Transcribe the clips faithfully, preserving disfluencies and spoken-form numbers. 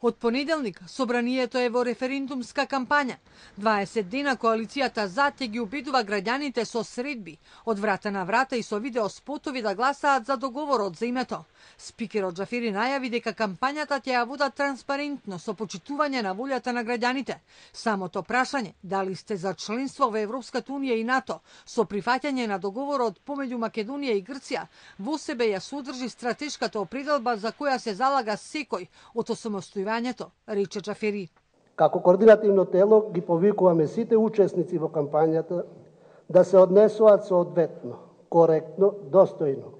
Од понеделник, собранието е во референдумска кампања. дваесет дена коалицијата за те ги убедува граѓаните со средби, од врата на врата и со видео спотови да гласаат за договорот за името. Спикерот Џафери најави дека кампањата ќе ја водат транспарентно со почитување на волјата на граѓаните. Самото прашање, дали сте за членство во Европската унија и НАТО, со прифаќање на договорот помеѓу Македонија и Грција, во себе ја содржи стратешката определба за која се залага секој од осамостојувањето, рече Џафери. Како координативно тело ги повикуваме сите учесници во кампањата да се однесуваат соодветно, коректно, достојно,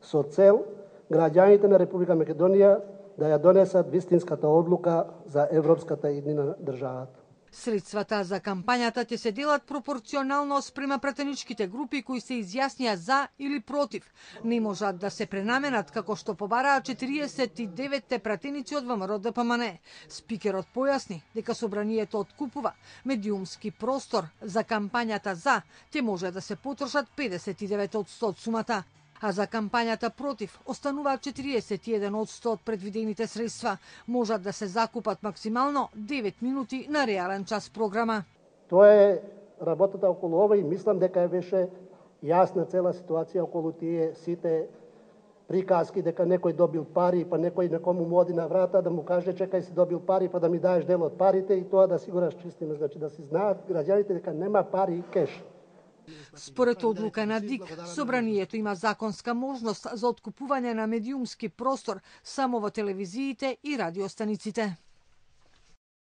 со цел граѓаните на Република Македонија да ја донесат вистинската одлука за европската иднина на државата. Средствата за кампањата ќе се делат пропорционално спрема пратеничките групи кои се изјаснија за или против. Не можат да се пренаменат како што побараа четириесет и деветте пратеници од ВМРО Д П М Н. Спикерот појасни дека собранието откупува медиумски простор за кампањата за, ќе може да се потрошат педесет и девет одсто од сумата, а за кампањата против остануваат четириесет и еден одсто од предвидените средства. Можат да се закупат максимално девет минути на реален час програма. Тоа е работата околу ова и мислам дека беше јасна цела ситуација околу тие сите приказки дека некој добил пари, па некој некому му оди на врата да му каже чекај си добил пари, па да ми даеш дел од парите и тоа да си го расчистиме, значи да се знаат граѓаните дека нема пари и кеш. Според одлука на ДИК, собранието има законска можност за откупување на медиумски простор само во телевизиите и радиостаниците.